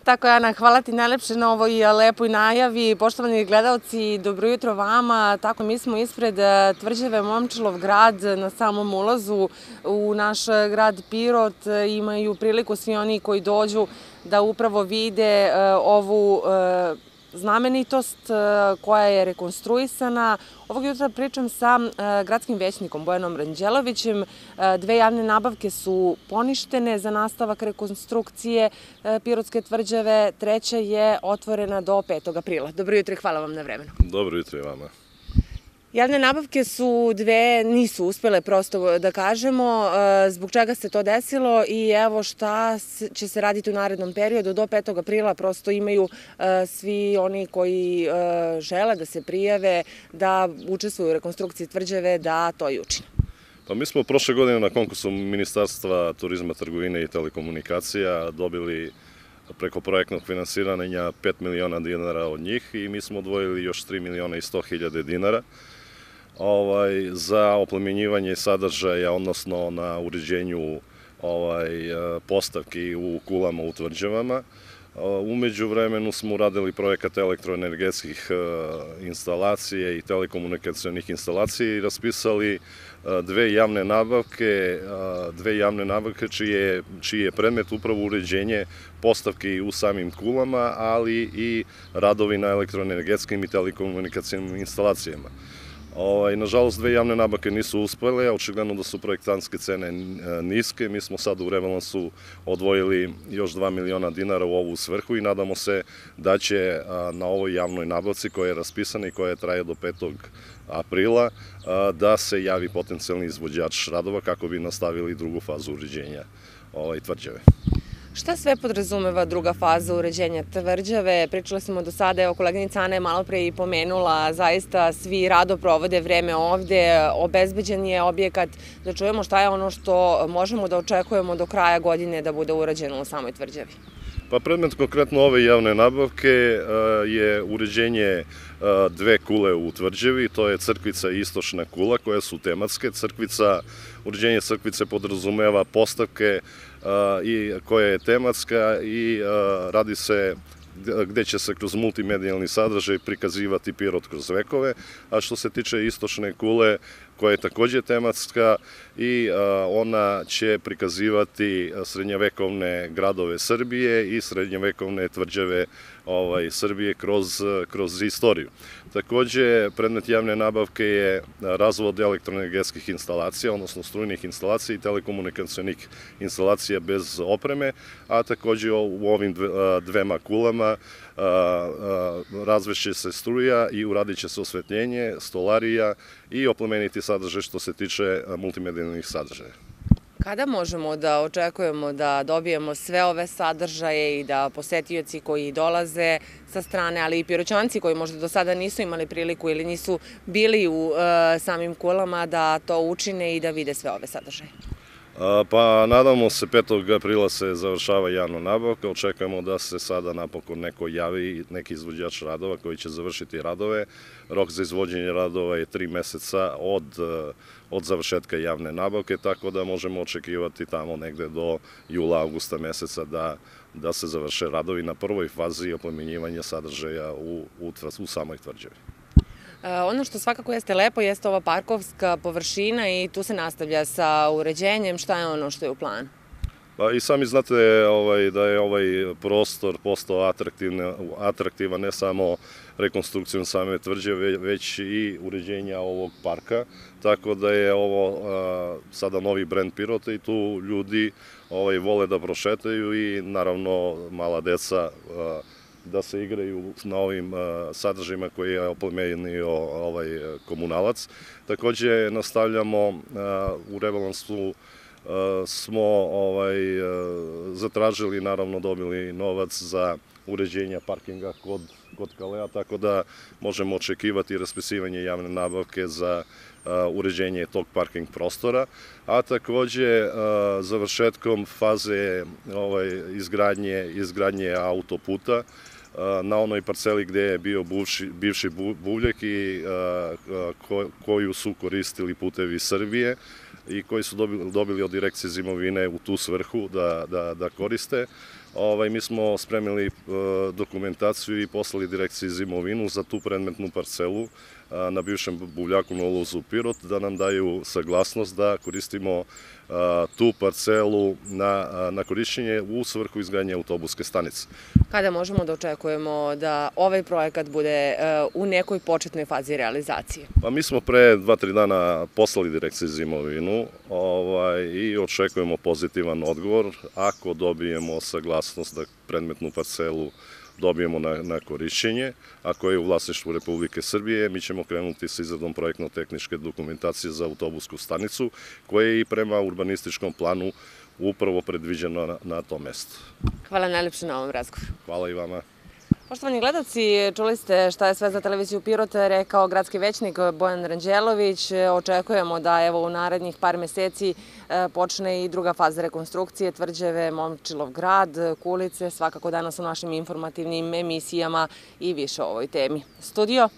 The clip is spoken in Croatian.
Tako je, Ana, hvala ti najlepše na ovoj lepoj najavi. Poštovani gledalci, dobro jutro vama. Tako, mi smo ispred tvrđave Momčilov grad na samom ulazu u naš grad Pirot. Imaju priliku svi oni koji dođu da upravo vide ovu znamenitost koja je rekonstruisana. Ovog jutra pričam sa gradskim većnikom Bojanom Ranđelovićem. Dve javne nabavke su poništene za nastavak rekonstrukcije Pirotske tvrđave. Treća je otvorena do 5. aprila. Dobro jutro i hvala vam na vremenu. Dobro jutro i vama. Javne nabavke su dve, nisu uspjele, prosto da kažemo, zbog čega se to desilo i evo šta će se raditi u narednom periodu do 5. aprila. Prosto imaju svi oni koji žele da se prijave, da učestvuju u rekonstrukciji tvrđave, da to i učine. Pa mi smo prošle godine na konkursu Ministarstva turizma, trgovine i telekomunikacija dobili preko projektnog finansiranja 5 miliona dinara od njih i mi smo odvojili još 3 miliona i 100 hiljade dinara za oplemenjivanje sadržaja, odnosno na uređenju postavki u kulama u tvrđavama. Umeđu vremenu smo uradili projekat elektroenergetskih instalacije i telekomunikacionih instalacija i raspisali dve javne nabavke čiji je predmet upravo uređenje postavki u samim kulama, ali i radovi na elektroenergetskim i telekomunikacionim instalacijama. Nažalost, dve javne nabavke nisu uspele, očigledno da su projektantske cene niske. Mi smo sad u rebalansu odvojili još 2 miliona dinara u ovu svrhu i nadamo se da će na ovoj javnoj nabavci koja je raspisana i koja traje do 5. aprila da se javi potencijalni izvođač radova kako bi nastavili drugu fazu uređenja tvrđave. Šta sve podrazumeva druga faza uređenja tvrđave? Pričali smo do sada, evo koleginica Ana je malo pre i pomenula, zaista svi rado provode vreme ovde, obezbeđen je objekat, da čujemo šta je ono što možemo da očekujemo do kraja godine da bude urađeno u samoj tvrđavi. Pa predmet konkretno ove javne nabavke je uređenje dve kule u tvrđavi, to je crkvica i istočna kula koje su tematske. Uređenje crkvice podrazumeva postavke koja je tematska i radi se gde će se kroz multimedijalni sadržaj prikazivati Pirot kroz vekove, a što se tiče istočne kule koja je takođe tematska i ona će prikazivati srednjevekovne gradove Srbije i srednjevekovne tvrđave Srbije kroz istoriju. Takođe, predmet javne nabavke je razvod elektroenergetskih instalacija, odnosno strujnih instalacija i telekomunikacionih instalacija bez opreme, a takođe u ovim dvema kulama razvešće se struja i uradit će se osvetljenje, stolarija i oplemeniti sadržaj što se tiče multimedijalnih sadržaja. Kada možemo da očekujemo da dobijemo sve ove sadržaje i da posetioci koji dolaze sa strane, ali i Piroćanci koji možda do sada nisu imali priliku ili nisu bili u samim kulama da to učine i da vide sve ove sadržaje? Pa nadamo se 5. aprila se završava javna nabavka, očekujemo da se sada napokon neko javi, neki izvođač radova koji će završiti radove. Rok za izvođenje radova je 3 meseca od završetka javne nabavke, tako da možemo očekivati tamo negde do jula, augusta meseca da se završe radovi na prvoj fazi oplemenjivanja sadržaja u samoj tvrđavi. Ono što svakako jeste lepo jeste ova parkovska površina i tu se nastavlja sa uređenjem. Šta je ono što je u planu? Pa i sami znate da je ovaj prostor postao atraktivan ne samo rekonstrukcijom same tvrđave, već i uređenja ovog parka, tako da je ovo sada novi brend Pirota i tu ljudi vole da prošetaju i naravno mala deca da se igraju na ovim sadržajima koji je oplemenio komunalac. Takođe nastavljamo u rebalansu smo zatražili, naravno dobili novac za uređenja parkinga kod Kalea, tako da možemo očekivati raspisivanje javne nabavke za uređenje tog parking prostora, a takođe završetkom faze izgradnje autoputa na onoj parceli gde je bio bivši buvljak i koju su koristili Putevi Srbije i koji su dobili od Direkcije za imovine u tu svrhu da koriste. Mi smo spremili dokumentaciju i poslali direkciji za imovinu za tu predmetnu parcelu na bivšem buvljaku na ulazu Pirot, da nam daju saglasnost da koristimo tu parcelu na korišćenje u svrhu izgradnje autobuske stanice. Kada možemo da očekujemo da ovaj projekat bude u nekoj početnoj fazi realizacije? Pa mi smo pre 2-3 dana poslali direkciji za imovinu i očekujemo pozitivan odgovor. Ako dobijemo saglasnost da predmetnu parcelu dobijemo na korišćenje, ako je u vlasništvu Republike Srbije, mi ćemo krenuti sa izradom projektno-tehničke dokumentacije za autobusku stanicu, koja je i prema urbanističkom planu upravo predviđena na tom mestu. Hvala najlepše na ovom razgovoru. Hvala i vama. Poštovani gledalci, čuli ste šta je sve za televiziju Pirot rekao gradski većnik Bojan Ranđelović. Očekujemo da u narednih par meseci počne i druga faza rekonstrukcije tvrđave Momčilov grad, Kulice, svakako danas u našim informativnim emisijama i više o ovoj temi. Studio.